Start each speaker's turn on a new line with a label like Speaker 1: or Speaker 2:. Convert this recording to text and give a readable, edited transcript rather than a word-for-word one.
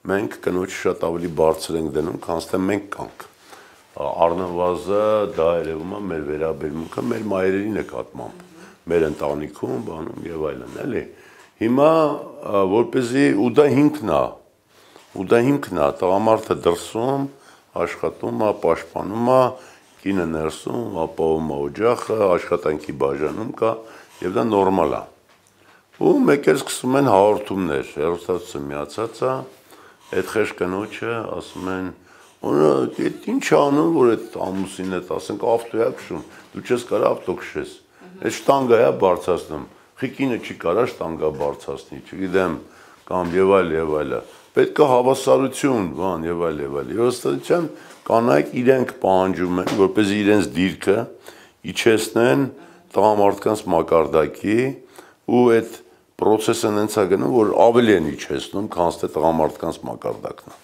Speaker 1: Մենք կնոջը շատ ավելի բարձր ենք դնում, քան թե մենք կանք։ Առնվազը դա երևում է մեր վերաբերմունքը մեր մայրերի նկատմամբ, մեր ընտանիքում, բանում եւ այլն, էլի։ Հիմա որպեսզի ու դա հիմքն է, տղամարդը դրսում աշխատում է, պաշտպանում է, կինը ներսում ապահովում է օջախը, աշխատանքի բաժանում կա եւ դա նորմալ է։ Ու մեկ էլ սկսում են հաղորդումներ, հեռուստացույցը միացած է, այդ խեղճ կնոջը ասում են, «Այդ ինչ անում, որ այդ ամուսինդ, ասենք ավտո է քշում, դու չես կարող ավտո քշես, այդ շտանգա է բարձրացնում, խիկինը չի կարա շտանգա բարձրացնի, չգիտեմ, կամ եւ այլը, պետք է հավասարություն, բան եւ այլ։ Եվ ըստ կանայք իրենք պահանջում են, որպեսզի իրենց դիրքը իջեցնեն տղամարդկանց մակարդակի ու այդ process-ը հենց է գնում, որ ավելի են իջեցնում, քան թե տղամարդկանց մակարդակն է։